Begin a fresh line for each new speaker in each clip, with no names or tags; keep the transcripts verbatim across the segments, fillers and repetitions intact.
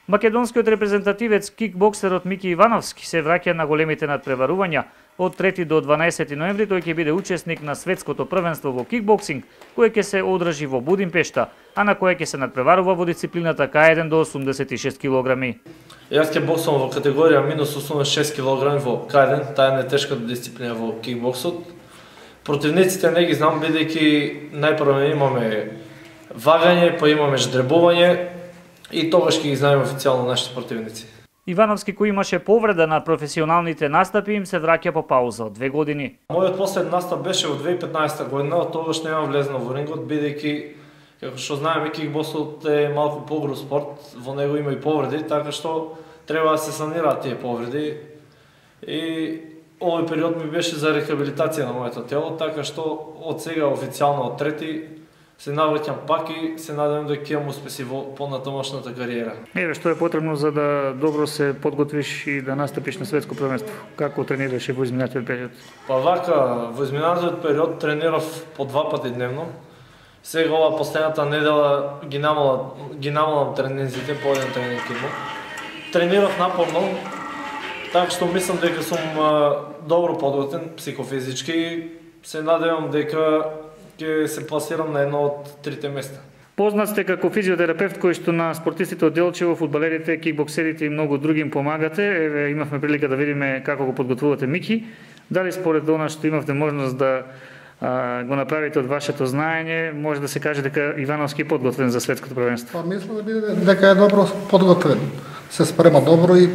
Македонскиот репрезентативец кикбоксерот Мики Ивановски се враќа на големите надпреварувања. Од трети до дванаесети ноември тој ќе биде учесник на светското првенство во кикбоксинг, кое ќе се одржи во Будимпешта, а на кое ќе се надпреварува во дисциплината К еден до осумдесет и шест килограми.
Јас ќе боксувам во категорија минус осумдесет и шест килограми во К еден, таа е најтешката дисциплина во кикбоксот. Противниците не ги знам, бидејќи најпрво имаме вагање, па имаме ждребување и тогаш ќе ги знаеме официјално нашите противници.
Ивановски, кој имаше повреда на професионалните настапи, им се враќа по пауза од две години.
Мојот последен настап беше во две илјади и петнаесета година, од тогаш немам влезено во рингот, бидејќи, како што знаеме, кикбоксот е малку погруз спорт, во него има и повреди, така што треба да се санираат тие повреди. И овој период ми беше за рехабилитација на моето тело, така што од сега официјално од трети се навраќам пак и се надевам дека ќе имам успеси во понатамошната кариера.
Еве, што е потребно за да добро се подготвиш и да настапиш на светско првенство? Како тренираше во изминатиот период?
Па вака, во изминатиот период тренирав по два пати дневно. Сега ова последната недела ги намалам, ги намалам тренинзите, по еден тренинг имам. Тренирав напорно, така што мислам дека сум добро подготвен психофизички. Се надевам дека ќе се пласирам на едно од трите места.
Познат сте како физиотерапевт кој што на спортистите од Делчево, фудбалерите, кикбоксерите и многу други им помагате. Еве, имавме прилика да видиме како го подготвувате Мики. Дали според она што имавте можност да а, го направите од вашето знаење, може да се каже дека Ивановски е подготвен за светското првенство?
Па мислам да биде дека е добро подготвен. Се спрема добро и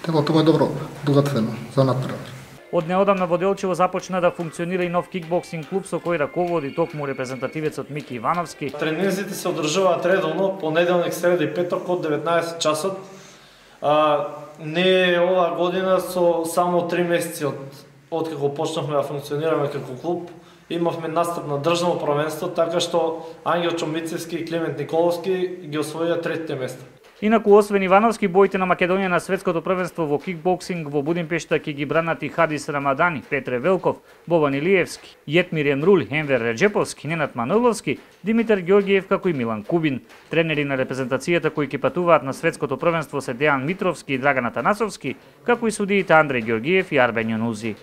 телото му е добро подготвено за натпревар.
Од неодамна во Делчево започна да функционира и нов кикбоксинг клуб со кој раководи токму репрезентативецот Мики Ивановски.
Тренинзите се одржуваат редовно, понеделник, среда и петок од деветнаесет часот. А, не е оваа година со само три месеци од откако почнавме да функционираме како клуб. Имавме настап на државно првенство, така што Ангел Чомбицевски и Климент Николовски ги освоија третите места.
Инаку, освен Ивановски, боите на Македонија на светското првенство во кикбоксинг во Будимпешта ќе ги бранат и Хадис Рамадани, Петре Велков, Бован Илиевски, Јетмир Емруль, Енвер Реджеповски, Ненад Маноловски, Димитар Ѓорѓиев како и Милан Кубин. Тренери на репрезентацијата кои ќе патуваат на светското првенство се Дејан Митровски и Драган Атанасовски, како и судиите Андреј Ѓорѓиев и Арбен Јонузи.